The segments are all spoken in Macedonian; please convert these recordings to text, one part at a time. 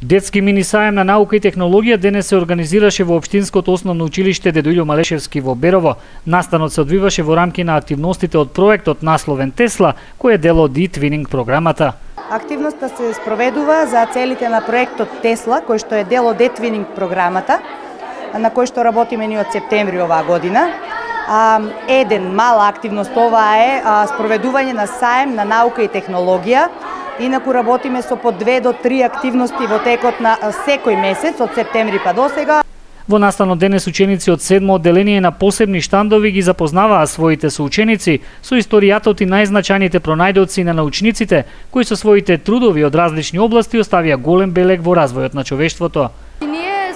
Детски мини саем на наука и технологија денес се организираше во Општинското основно училиште Дедо Илјо Малешевски во Берово. Настанот се одвиваше во рамки на активностите од проектот насловен Тесла, кој е дел од e-twinning програмата. Активноста се спроведува за целите на проектот Тесла, кој што е дел од e-twinning програмата, на кој што работиме ни од септември оваа година. Еден мала активност ова е спроведување на саем на наука и технологија. Инаку работиме со по 2 до 3 активности во текот на секој месец од септември па до сега. Во настанот денес ученици од 7 одделение на посебни штандови ги запознаваа своите соученици со историјатот и најзначајните пронајдоци на научниците, кои со своите трудови од различни области оставија голем белег во развојот на човештвото.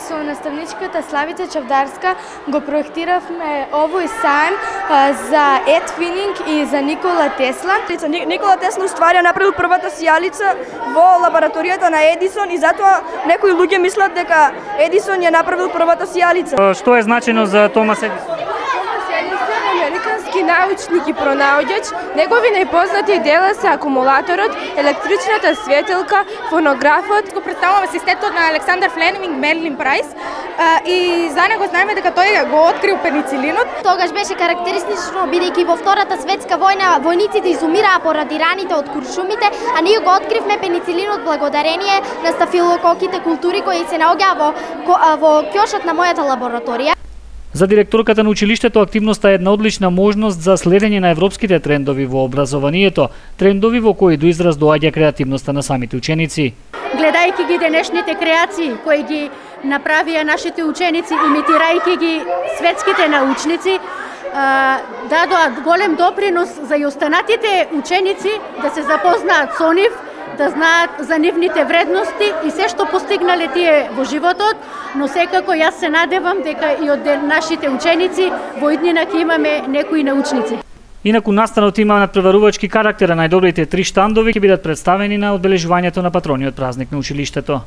Со наставничката Славица Чавдарска го проектиравме овој саем за e-twinning и за Никола Тесла. Никола Тесла уствари направил првата сијалица во лабораторијата на Едисон и затоа некои луѓе мислат дека Едисон ја направил првата сијалица. Што е значено за Томас Едисон? Американски научник и пронаоѓач, негови најпознати дела се акумулаторот, електричната светилка, фонографот. Го представува системот на Александар Флеминг Мерлин Прайс и за него знаеме дека тој го открил пеницилинот. Тогаш беше карактеристично бидејќи во Втората светска војна војниците изумираа поради раните од куршумите, а ние го откривме пеницилинот благодарение на стафилококите култури кои се наоѓаа во ќошот на мојата лабораторија. За директорката на училиштето активноста е една одлична можност за следење на европските трендови во образованието, трендови во кои до израз доаѓа креативноста на самите ученици. Гледајќи ги денешните креации кои ги направија нашите ученици, имитирајќи ги светските научници, дадоа голем допринос за и останатите ученици да се запознаат со нив, да знаат за нивните вредности и се што постигнале тие во животот, но секако јас се надевам дека и од нашите ученици во иднина ќе имаме некои научници. Инаку настанот има надпреварувачки карактер, а најдобрите 3 штандови ќе бидат представени на одбележувањето на патрониот празник на училиштето.